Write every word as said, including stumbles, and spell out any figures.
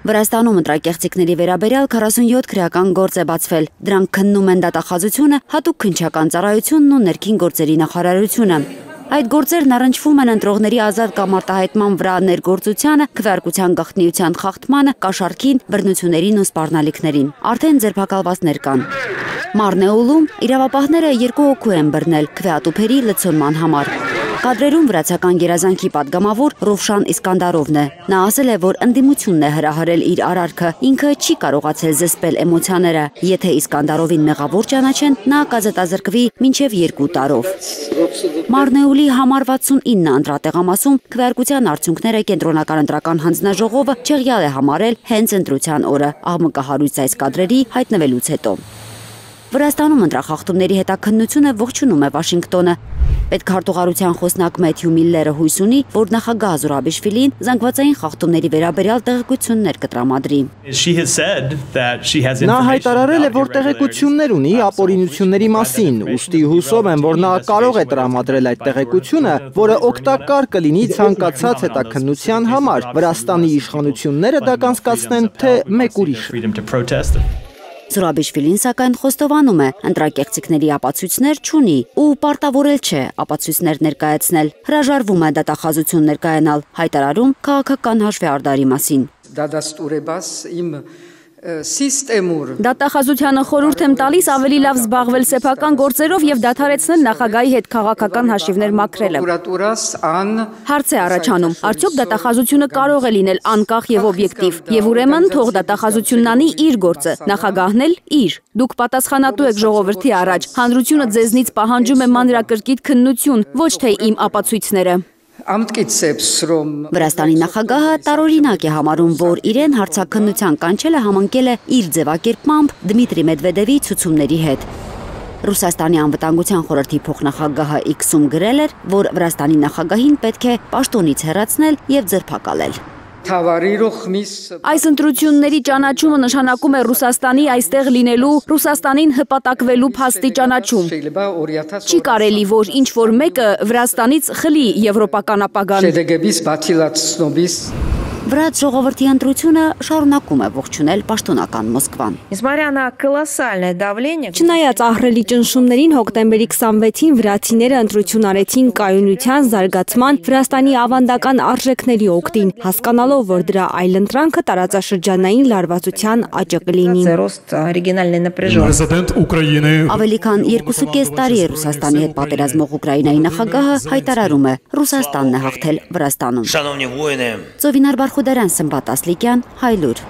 Վրաստանում ընտրակեղծիքների վերաբերյալ քառասունյոթ քրեական գործ է բացվել։ Դրանք քննում են դատախազությունը, հատուկ քննչական ծառայությունն ու ներքին գործերի նախարարությունը։ Այդ գործերն առնչվում են ընտրողների ազատ կամ արտահայտման վրա ներգործությանը, քվեարկության գաղտնիության խախտմանը, կաշառքին, բռնություններին ու սպառնալիքներին։ Արդեն ձերբակալվածներ կան։ Մարնեուլում իրավապահները երկու հոգու են բռնել քվեատուփերի լցոնման համար։ Կադրերում վրացական գերազանքի падգամավոր Ռովշան Իսկանդարովն է։ Նա ասել է, որ ընդդիմությունն է հրահրել իր արարքը, ինքը չի կարողացել զսպել էմոցիաները։ Եթե Իսկանդարովին մեղավոր ճանաչեն, նա կազատազրկվի մինչև երկու տարով։ Մարնեուլի համար վաթսունինը ընտրատեղամասում քվեարկության արդյունքները կենտրոնական ընտրական հանձնաժողովը չեղյալ է համարել հենց ընտրության օրը, աղմկահարույց այս կադրերի հայտնվելուց հետո։ Վրաստանում ընտրախախտումների հետաքննությունը ողջունում է Վաշինգտոնը։ Պետքարտուղարության խոսնակ Մեթյու Միլլերը հույս ունի, որ նախագահ Զուրաբիշվիլին զանգվածային խախտումների վերաբերյալ տեղեկություններ կտրամադրի։ Նա հայտարարել է, որ տեղեկություններ ունի ապօրինությունների մասին, ուստի հուսով եմ, որ նա կարող է տրամադրել այդ տեղեկությունը, որը օգտակար կլինի ցանկացած հետաքննության համար, Վրաստանի իշխանությունները դա կանցկացնեն, թե մեկ ուրիշ։ Զուրաբիշվիլին սակայն խոստովանում է, ընտրակեղծիքների ապացույցներ չունի ու պարտավորել չէ ապացույցներ ներկայացնել, հրաժարվում է դատախազություն ներկայանալ, հայտարարում քաղաքական հաշվեհարդարի մասին։ Դատախազությանը խորհուրդ եմ տալիս ավելի լավ զբաղվել սեփական գործերով եւ դադարեցնել նախագահի հետ քաղաքական հաշիվներ մաքրելը։ Հարց է առաջանում, արդյոք դատախազությունը կարող է լինել անկախ եւ օբյեկտիվ, եւ ուրեմն թող դատախազությունն անի իր գործը, նախագահն էլ իր։ Դուք պատասխանատու եք ժողովրդի առաջ, հանրությունը ձեզնից պահանջում է մանրակրկիտ քննություն, ոչ թե իմ ապացույցները։ Վրաստանի նախագահը տարօրինակ է համարում, որ իրեն հարցաքննության կանչելը համընկել է իր ձևակերպմամբ Դմիտրի Մեդվեդևի ցուցումների հետ։ Ռուսաստանի անվտանգության խորհրդի փոխնախագահը Իքսում գրել էր, որ Վրաստանի նախագահին պետք է պաշտոնից հեռացնել եւ ձերբակալել։ Այս ընտրությունների ճանաչումը նշանակում է Ռուսաստանի այստեղ լինելու, Ռուսաստանին հպատակվելու փաստի ճանաչում։ Չի կարելի, որ ինչ-որ մեկը Վրաստանից խլի եվրոպական ապագան։ Վրաց ժողովրդի ընտրությունը շարունակում է ողջունել պաշտոնական Մոսկվան։ Չնայած ահռելի ճնշումներին հոկտեմբերի քսանվեցին վրացիները ընտրություն արեցին կայունության, զարգացման, Վրաստանի ավանդական արժեքների օգտին, հասկանալով, որ դրա այլընտրանքը տարածաշրջանային լարվածության աճը կլինի։ Ավելի քան երկուսուկես տարի է Ռուսաստանի հետ պատերազմող Ուկրաինայի նախագահը հայտարարում է, Ռուսաստանն է հաղթել Վրաստանում։ Ծովինար Բարխուդարյան, Սմբատ Ասլիկյան, Հայլուր։